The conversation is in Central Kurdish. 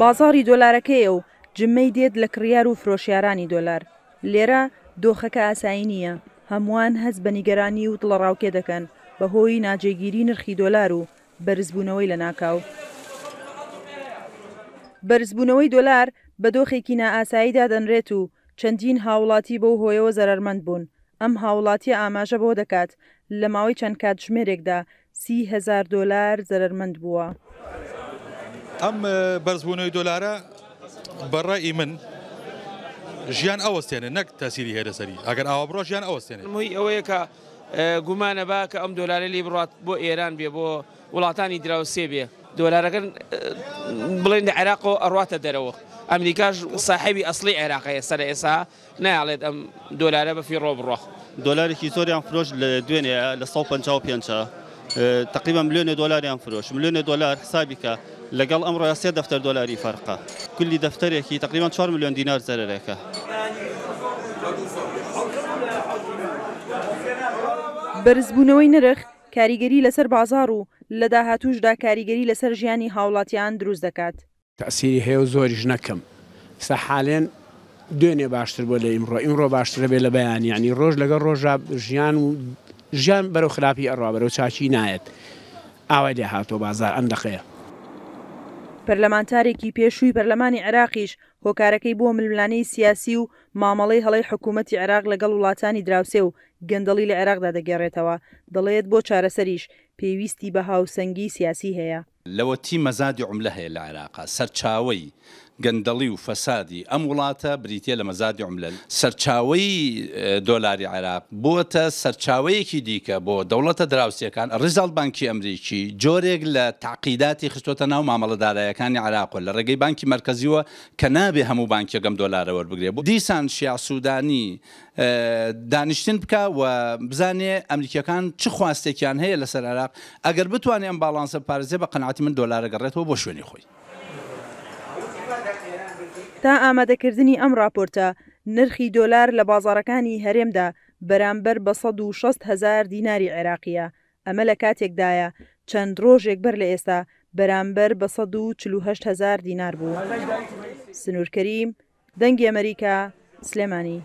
بازاڕی دۆلارەکەیە و جمەی دێت لە کڕیار و فرۆشیارانی دۆلار. لێرە دۆخەکە ئاسایی نییە، هەمووان هەست بە نیگەرانی و دڵەڕاوکێ دەکەن بەهۆی ناجێگیری نرخی دۆلار و بەرزبوونەوەی لەناکاو. بەرزبوونەوەی دۆلار بە دۆخێکی نائاسایی دادەنرێت و چەندین هاوڵاتی بەو هۆیەوە زەرەرمەند بوون، ئەم هاوڵاتییە ئاماژە بەوە دەکات، لە ماوەی چەند کاتژمێرێکدا 30 هەزار دۆلار زەرەرمەند بووە. ئەم بەرزبوونەوەی دۆلارە بە ڕەئی من ژیان ئەوەستێنێ نەک تەسیری هەیە لەسەری، ئەگەر ئاوا بڕوا ژیان ئەوەستێنێ. هۆی ئەوەیە کە گومانە با کە ئەم دۆلارە لێ بڕات بۆ ئێران بێ، بۆ وڵاتانی دراوسێ بێ، دۆلارەکە بڵێن لە عێراقەوە ئەڕواتە دەرەوە، ئەمریکاش ساحێبی ئەسڵی عێراقە ئێستا لە ئێستا نایەڵێت ئەم دۆلارە بە فیڕۆ بڕوا. دۆلارێکی زۆریان فرۆشت لە دوێنێ لە 155 تقریبا ملیۆنێ دۆلاریان فرۆشت، ملیۆنێ دۆلار حسابی کە لەگەڵ ئەمڕۆیا سێ دەفتەر دۆلاری فەرقە، کولی دەفتەرێکی تقریبا 4 ملیۆن دینار زەرەرێکە. بەرزبوونەوەی نرخ کاریگەری لەسەر بازاڕ و لە داهاتووشدا کاریگەری لەسەر ژیانی هاوڵاتیان دروست دەکات. تەئسیری هەیە و زۆریش نە کەم. ئیستا حالێن دوێنێ باشتر بووە لە ئیمڕۆ، ئیمڕۆ باشترە بێ لە بەیانی، یانی ڕۆژ لەگەڵ ڕۆژا ژیان و ژیان بەرەو خراپی ئەڕوا، بەرەو چاکی نایەت. ئاوای لێ هاتووە بازار ئەم دەقەیە. پەرلەمانتارێکی پێشووی پەرلەمانی عێراقیش هۆکارەکەی بۆ ململانێی سیاسی و مامەڵەی هەڵەی حکوومەتی عێراق لەگەڵ وڵاتانی دراوسێ و گەندەڵی لە عێراقدا دەگێڕێتەوە، دەڵێت بۆ چارەسەریش پێویستی بە هاوسەنگی سیاسی هەیە. لەوەتی مەزادی عوملە هەیە لە عێراقا، سەرچاوەی گەندەڵی و فەسادی ئەم وڵاتە بریتیە لە مەزادی عوملە. سەرچاوەی دۆلاری عێراق بووەتە سەرچاوەیەکی دیکە بۆ دەوڵەتە دراوسێکان، ڕیزاڵ بانکی ئەمریکی جۆرێک لە تەعقیداتی خستۆتە ناو مامەڵە دارایەکانی عێراقەوە لە ڕێگەی بانکی مەرکەزیوە کە نابێ هەموو بانکێک ئەم دۆلارە وەربگرێ. دیسان شیاع سودانی دانیشتن بکا و بزانێ ئەمریکیەکان چ خواستێکیان هەیە لەسەر عێراق، ئەگەر بتوانێ ئەم باڵانسە بپارێزێ بە قەناعەتی من دۆلار ئەگەڕێتەوە بۆ شوێنی خۆی. تا ئامادەکردنی ئەم راپۆرتە، نرخی دۆلار لە بازاڕەکانی هەرێمدا بەرامبەر بە 160 هەزار دیناری عێراقییە، ئەمە لە کاتێکدایە چەند رۆژێک بەر لە ئێستا بەرامبەر بە 148 هەزار دینار بوو. سنوور کەریم، دەنگی ئەمەریکا، سلێمانی.